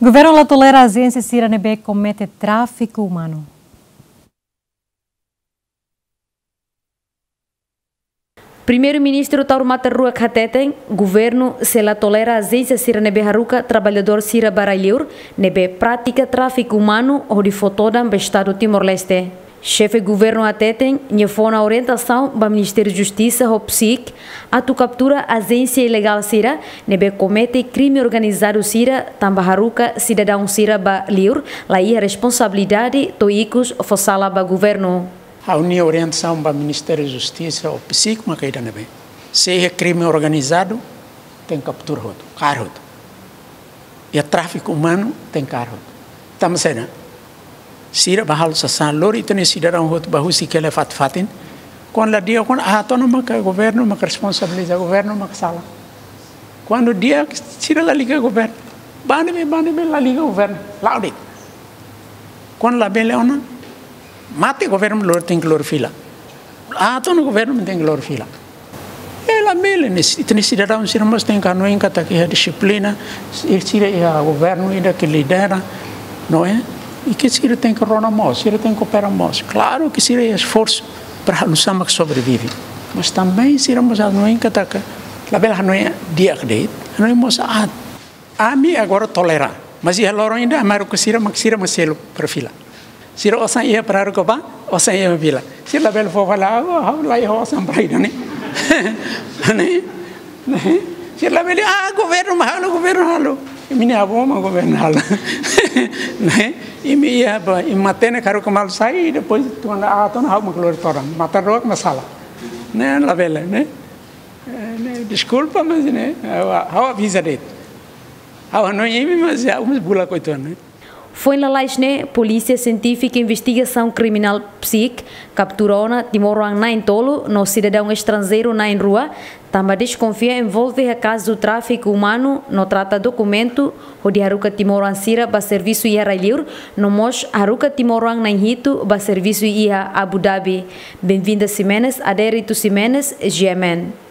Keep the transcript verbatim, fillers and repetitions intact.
Governu la tolera ajénsia sira ne'ebé komete tráfiku umanu. Primeiru-Ministru Taur Matan Ruak hateten, governu sei la tolera ajénsia sira ne'ebé haruka traballadór sira ba rai-liur, ne'ebé pratika tráfiku umanu hodi fó todan ba Estadu Timor-Leste. Xefe governu hateten, nia fó ona orientasaun ba Ministériu Justisa ho PCIC atu kaptura ajénsia ilegál sira ne'ebé komete krime organizadu sira tanba haruka sidadaun sira ba liur, la iha responsabilidade to'o ikus fó sala ba governu. Ha'u-nia orientasaun ba Ministériu Justisa ho PCIC maka ida-ne'ebé: se iha krime organizadu, tenke kaptura hotu, kaer hotu. Iha tráfiku umanu, tenke kaer hotu. Tanba saida? Sira bá halo sasán, lori ita-nia sidadaun hotu bá husik hela iha fatin-fatin. Kuandu la di'ak, kuandu aat ona maka governu maka responsabiliza, governu maka sala. Kuandu di'ak, sira la liga governu. Bá ne'ebé, bá ne'ebé, la liga governu. La'o de'it. Kuandu labele ona, mate governu, lori, tenke lori fila. Aat ona governu, tenke lori fila. E labele, ne'e, ita-nia sidadaun sira mós tenke hanoin katak iha dixiplina, sira iha governu ida ke lidera, não é? I ke sira tenke rona mós, sira tenke koopera mós. Klaru ke sira iha esforsu para halo sá mak sobrevive. Mas também sira mós hanoin katak, labele hanoin di'ak de'it, hanoin mós aat. Ami agora tolera, mas iha loron ida ami haruka sira mak, sira mak selu para fila. Sira osan iha para haruka bá, osan iha fila. Sira labele fó fali, "Ah, ha'u la iha osan para ida-ne'e." Ne'e? Ne'e? Sira labele, "Ah, governu mak halo, governu halo." Imi-nia avó mak governu halo. Ne'e? Imi iha bá, imi matenek haruka malu sai, depois kuandu aat ona ha'u mak lori todan. Matan-ruak mak sala. Ne'e labele, ne'e? Eh, ne'e, deskulpa, mas ne'e, ha'u, ha'u aviza de'it. Ha'u hanoin imi, mas ha'u mós bulak uitoan, ne'e? Foin lalais ne'e, Polísia Sientífika Investigasaun Kriminál, PSIK, kaptura ona timoroan na'in-tolu no sidadaun estranjeiru na'in-rua, tanba deskonfia envolve iha kazu tráfiku umanu no trata dokumentu hodi haruka timoroan sira bá servisu iha rai-liur, no mós haruka timoroan na'in-hitu bá servisu iha Abu Dhabi. Benvinda Ximenes, Adérito Ximenes, G M N.